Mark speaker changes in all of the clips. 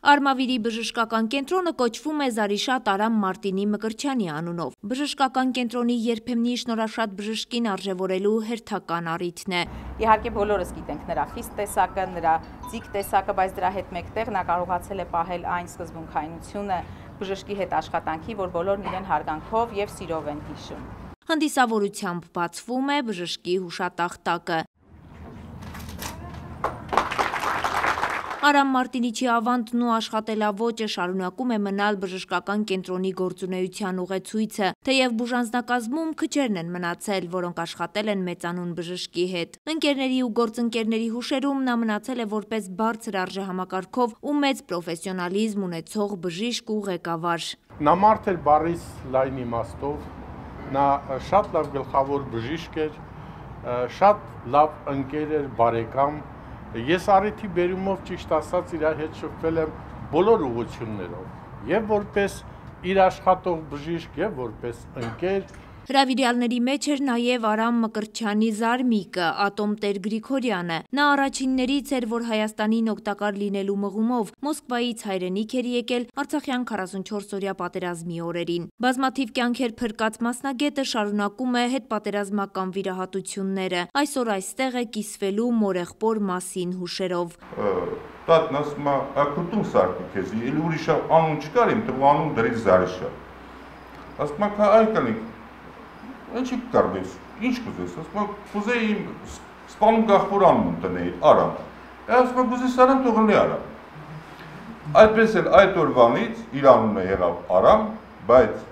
Speaker 1: Արմավիրի բժշկական կենտրոնը կոչվում է Զարիշատ Արամ Մարտինի Մկրտչյանի անունով։ Բժշկական կենտրոնի երբեմնի շնորհաշատ բժշկին արժևորելու հերթական առիթն է։
Speaker 2: Իհարկե բոլորս գիտենք նրա խիստ տեսակը, նրա ձիգ տեսակը, բայց դրա հետ մեկտեղ նա կարողացել է պահել այն սկզբունքայնությունը բժշկի հետ աշխատանքի, որ բոլորն իրեն հարգանքով եւ սիրով են հիշում։
Speaker 1: Հանդիսավորությամբ բացվում է բժշկի հուշատախտակը։ Արամ Մարտինիչի ավանդն ու աշխատելավոճը շարունակում է մնալ բժշկական կենտրոնի գործունեության ուղեցույցը, թեև բուժանձնակազմում քչերն են մնացել, որոնք աշխատել են մեծանուն բժշկի հետ։ Ընկերների ու գործընկերների հուշերում նա մնացել է որպես բարձր արժեհամակարգով ու մեծ պրոֆեսիոնալիզմ ունեցող բժիշկ ու ղեկավար։
Speaker 3: Նա մարդ էր բառից լայն իմաստով, նա շատ լավ գլխավոր բժիշկ էր, շատ լավ ընկեր էր, բարեկամ։ Ես առիթի բերումով ճիշտ ասած իր հետ շփվել եմ բոլոր ուղղություններով, եւ որպես իր աշխատող բժիշկ, եւ որպես ընկեր։
Speaker 1: Հրավիրյալների մեջ էր նաև Արամ Մկրտչյանի զարմիկը, Ատոմտեր Գրիգորյանը։ Նա առաջիններից էր, որ Հայաստանին օգտակար լինելու մղումով Մոսկվայից հայրենիք էր եկել Արցախյան 44-օրյա պատերազմի օրերին։ Բազմաթիվ կյանքեր փրկած մասնագետը շարունակում է հետպատերազմական վիրահատությունները։ Այսօր այստեղ է կիսվելու մորեղբոր մասին հուշերով։
Speaker 4: Տատն ասում է, «Ակուտուն սարքի քեզ, էլի ուրիշ անուն չկար, իմ տղու անուն դրի Զարիշատ»։ Ասում է, «Այ կնիկ, ինչի կարդես, ինչ կուզես»։ Ասում է, «Կուզեի իմ սպանում գաղբոր անուն տնեի, Արամ»։ Ասում է, «Կուզես Արամ, թողնի Արամ»։ Այդպես էլ այդ օրվանից իր անունը եղավ Արամ, բայց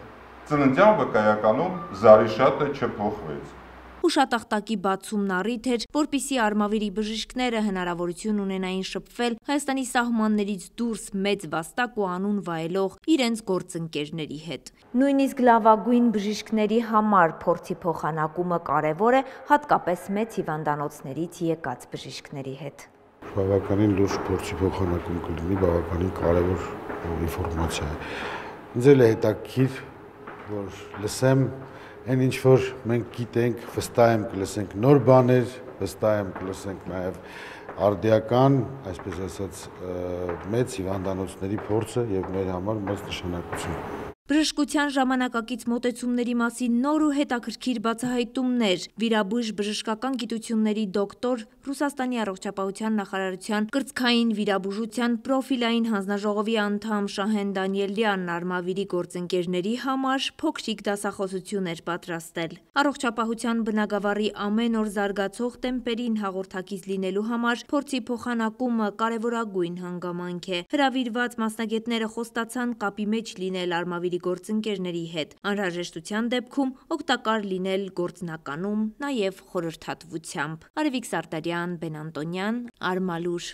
Speaker 4: ծննդյան վկայականում Զարիշատը չփոխվեց։
Speaker 1: Հուշատախտակի բացումն առիթ էր, որպիսի Արմավիրի բժիշկները հնարավորություն ունենային շփվել Հայաստանի սահմաններից դուրս մեծ վաստակ ու անուն վայելող իրենց գործընկերների հետ։ Նույնիսկ լավագույն բժիշկների համար փորձի փոխանակումը կարևոր է, հատկապես մեծ հիվանդանոցներից եկած բժիշկների հետ։
Speaker 5: Բավականին լուրջ փորձի փոխանակում կլինի, բավականին կարևոր ինֆորմացիա է։ Ինձ էլ է հետաքրքիր, որ լսեմ այն ինչ որ մենք գիտենք, վստահ եմ կլսենք նոր բաներ, վստահ եմ կլսենք նաև արդիական, այսպես ասած, մեծ հիվանդանոցների փորձը եւ մեր համար մեծ նշանակություն։
Speaker 1: Բժշկության ժամանակակից մոտեցումների մասին նոր ու հետաքրքիր բացահայտումներ, վիրաբույժ բժշկական գիտությունների դոկտոր, Ռուսաստանի առողջապահության նախարարության կրծքային վիրաբուժության պրոֆիլային հանձնաժողովի անդամ Շահեն Դանիելյանն Արմավիրի գործընկերների համար փոքրիկ դասախոսություն էր պատրաստել։ Առողջապահության բնագավառի ամեն օր զարգացող տեմպերին հաղորդակից լինելու համար փորձի փոխանակումը կարևորագույն հանգամանք է։ Հրավիրված մասնագետները խոստացան կապի մեջ լինել Արմավիրի գործընկերների հետ, անհրաժեշտության դեպքում օգտակար լինել գործնականում, նաև խորհրդատվությամբ։ Արևիկ Սարտարյան, Բեն Անտոնյան, Արմալուր։